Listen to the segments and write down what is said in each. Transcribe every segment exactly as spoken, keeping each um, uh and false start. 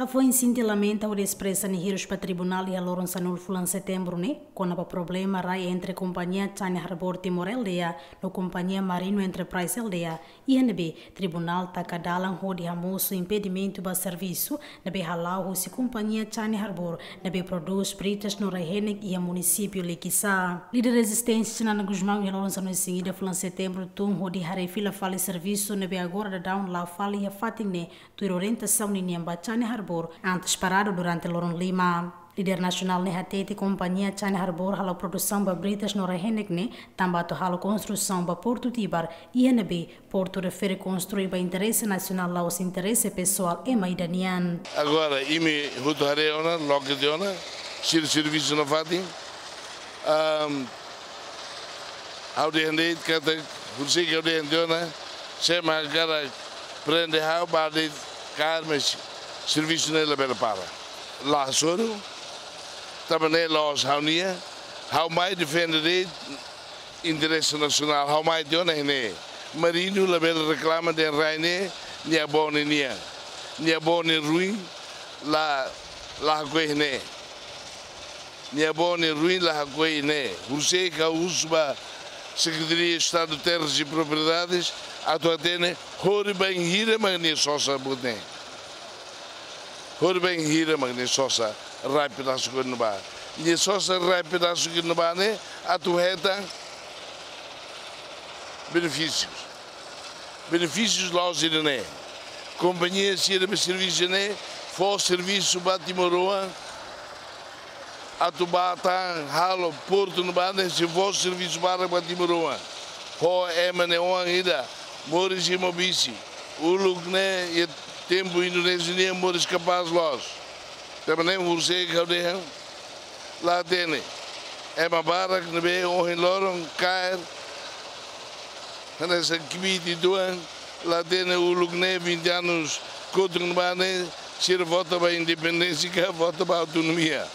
Hafoin sente lamenta hodi espresa nia hirus ba tribunál iha loron sanulu fulan Setembru ne'e, kona-ba problema rai entre kompañia China Harbour Timor L D A no kompañia Marino Enterprise L D A, iha ne'ebé tribunál taka dalan hodi hamosu impedimentu ba servisu ne'ebé hala'o husi kompañia China Harbour ne'ebé prodús britas no rai-henek iha munisípiu Likisá. Líder rezisténsia Xanana Gusmão iha loron sanulu-resin-ida fulan Setembru tun hodi haree fila fali servisu ne'ebé agora daudaun la'o fali iha fatin ne'e, tuir orientasaun ninian ba China Harbour, antes paradu durante loron lima. Líder nasionál ne'e hatete kompañia China Harbour halo produsaun ba britas no rai-henek ne'e tanba atu halo konstrusaun ba Portu Tibar, iha ne'ebé portu refere konstrui ba interese nasionál, la'ós interese pesoál ema ida nian. Agora, imi hotu haree ona, loke tiha ona, sira servisu nafatin. Ahm, ha'u dehan de'it katak, husi ke ha'u dehan tiha ona, sé mak hakarak prende ha'u ba de'it kaer, mas servisu ne'e labele para. La hasoru, tanba ne'e la'ós ha'u-nian, ha'u mai defende de'it interese nasionál, ha'u mai tiha ona iha ne'e. Marino labele reklama dehan rai ne'e nia avó nian. Nia avó nia ruin la, la hakoi iha ne'e. Nia avó nia ruin la hakoi iha ne'e. Husi ke ha'u husu ba Sekretaria Estadu Terras e Propriedades atu hatene horibainhira mak nia sosa buat ne'e. Horibainhira mak nia sosa rai pedasu ke ne'ebá. Nia sosa rai pedasu ke ne'ebá ne'e atu hetan benefísius. Benefísius la'ós ida-ne'e. Kompañia sira be servisu ne'e fó servisu ba timoroan atu bá tan halo portu ne'ebá ne'e sei fó servisu barak ba timoroan. Ho ema ne'e oan ida, moris iha Maubisse. Uluk ne'e iha tempu Indonézia nian moris kapás loos. Tanba ne'e husi ke ha'u dehan, la hatene. Ema barak ne'ebé ohin loron kaer hanesan kbiit uitoan, la hatene uluk ne'e vinte anos kotuk ne'ebá ne'e, sira vota ba independénsia ka vota ba autonomia.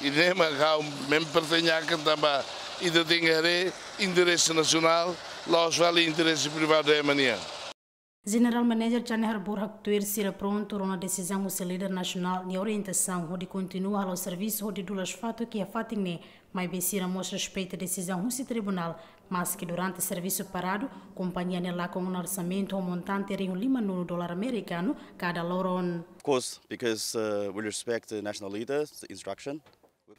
I ne'e mak ha'u mempertanyakan tanba ita tenke haree interese nasionál, la'ós fali interese privadu ema nian. General Manager China Harbour haktuir sira prontu rona desizaun husi líder nasionál nia orientasaun hodi kontinua halo servisu hodi dulas fatuk iha fatin ne'e, maibé sira mós respeita desizaun husi tribunál, maski durante servisu paradu, kompañia ne'e lakon ona orsamentu ho montante rihun lima-nulu dolar amerikanu kada loron. Of course, because, uh, we respect the national leader's instruction.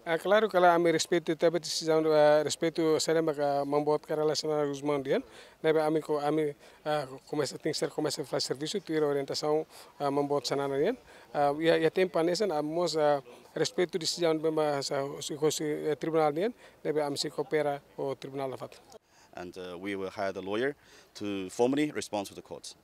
Ah, klaru, klaru, ami respeitu tebes desizaun, ah, respeitu saida maka Maun Boot Kay Rala Xanana Gusmão dehan. Ne'ebé ami ko, ami, ah, komesa, tenke ser komesa fali servisu tuir orientasaun, ah, Maun Boot Xanana dehan. Ah, iha, iha tempu hanesan, ami mós, ah, respeitu desizaun ne'ebé mak sai husi, husi, eh, tribunál dehan. Ne'ebé ami sei koopera ho tribunál nafatin. And, uh, we will hire the lawyer to formally respond to the court.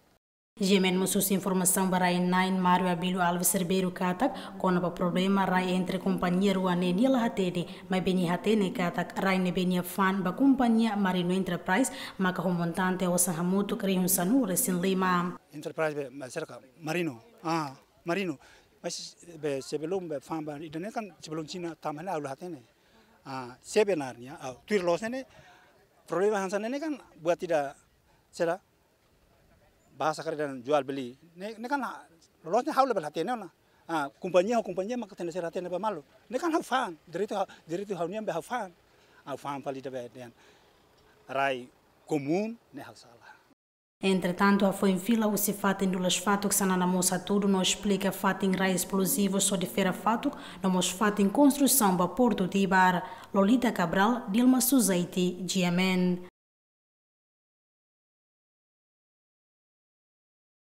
G M N mós husu informasaun ba rai-na'in Mário Abílio Alves Ribeiro katak, kona-ba problema rai entre kompañia rua ne'e nia la hatene, maibé nia hatene katak rai ne'ebé nia fa'an ba kompañia Marino Enterprise maka ho montante osan hamutuk rihun sanulu-resin-lima. Enterprise be, ma, serka Marino. Ah, Marino. Mas be sebelum be fa'an ba ida-ne'e kan sebelum Xina tama ne'e ha'u la hatene. Ah, sebenarnya, ah, tuir loos ne'e, problema hanesan ne'e kan buat ida, saida, bahasa karik dehan jual beli. Ne'e, ne'e kan ha-, loloos ne'e ha'u labele hatene ona. Ah, kompañia ho kompañia maka tenke ser hatene ba malu. Ne'e kan ha'u fa'an, direitu ha-, direitu ha'u-nian be ha'u fa'an. Ha'u fa'an fali ida be dehan rai komún ne'e ha'u sala. Entretantu, hafoin fila husi fatin dulas fatuk Xanana mós hatudu no esplika fatin rai esplozivus hodi fera fatuk, no mós fatin konstrusaun ba Portu Tibar. Lolita Cabral, Dilma Suzaiti, G M N.